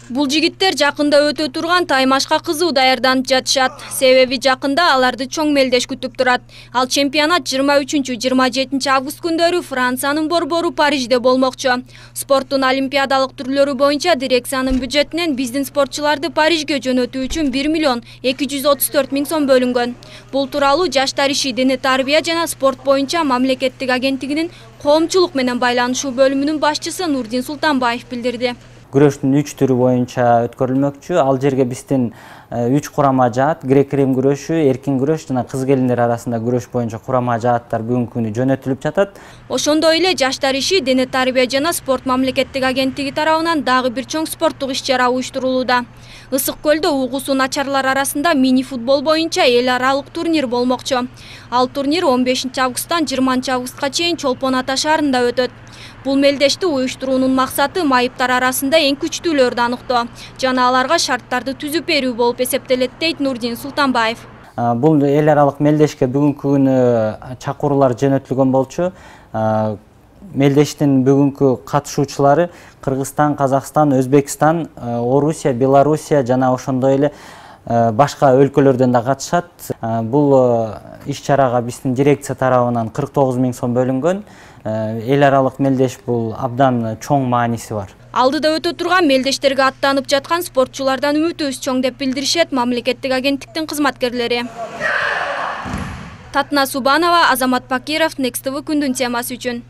Бул жигиттер жакында өтө турган таймашка кызуу даярданып жатышат. Себеби жакында аларды чоң мелдеш күтүп турат. Ал чемпионат 23-27 август күндөрү Франциянын борбору Парижде болмокчу. Спорттун олимпиадалык түрлөрү боюнча дирекциянын бюджетинен биздин спортчуларды Парижге жөнөтүү үчүн 1 миллион 234 миң сом бөлүнгөн. Бул тууралуу Жаштар иши, дене тарбия жана спорт боюнча мамлекеттик агенттигинин коомчулук менен байланышуу бөлүмүнүн башчысы Нурдин Султанбаев билдирди. Күрөштүн 3 түрү боюнча өткөрүлмөкчү. Ал жерге биздин 3 курама жаат: грек-рим күрөшү, эркин күрөш жана кыз-келиндер арасында күрөш боюнча курама жааттар бүгүнкү күнү жөнөтүлүп жатат. Ошондой эле Жаштар иши, дене тарбия жана спорт мамлекеттик агенттиги тарабынан дагы бир чоң спорттук иш-чара уюштурулууда. Ысык көлдө угусу начарлар арасында мини футбол боюнча эл аралык турнир болмокчу. Ал турнир 15 августтан 20 августка чейин Чолпон Ата шаарында өтөт. Бул мелдешти уюштуруунун максаты майыптар арасында эң күчтүүлөрдү аныктоо жана аларга шарттарды түзүп берүү болуп эсептелет, дейт Нурдин Султанбаев. Бул эл аралык мелдешке бүгүнкү күнү чакыруулар жөнөтүлгөн болчу. Мелдештин бүгүнкү катышуучулары Кыргызстан, Казакстан, Өзбекстан, Орусия, Белоруссия жана ошондой эле башка өлкөлөрдөн да катышат. Бул иш-чарага биздин дирекция тарабынан 49 миң сом бөлүнгөн. Эл аралык мелдеш бул абдан чоң мааниси бар. Алдыда өтө турган мелдештерге аттанып жаткан спортчулардан үмүтүбүз чоң деп билдиришет мамлекеттик агенттиктин кызматкерлери. Татна Субанова, Азамат Пакиров, Next TV күндүн темасы үчүн.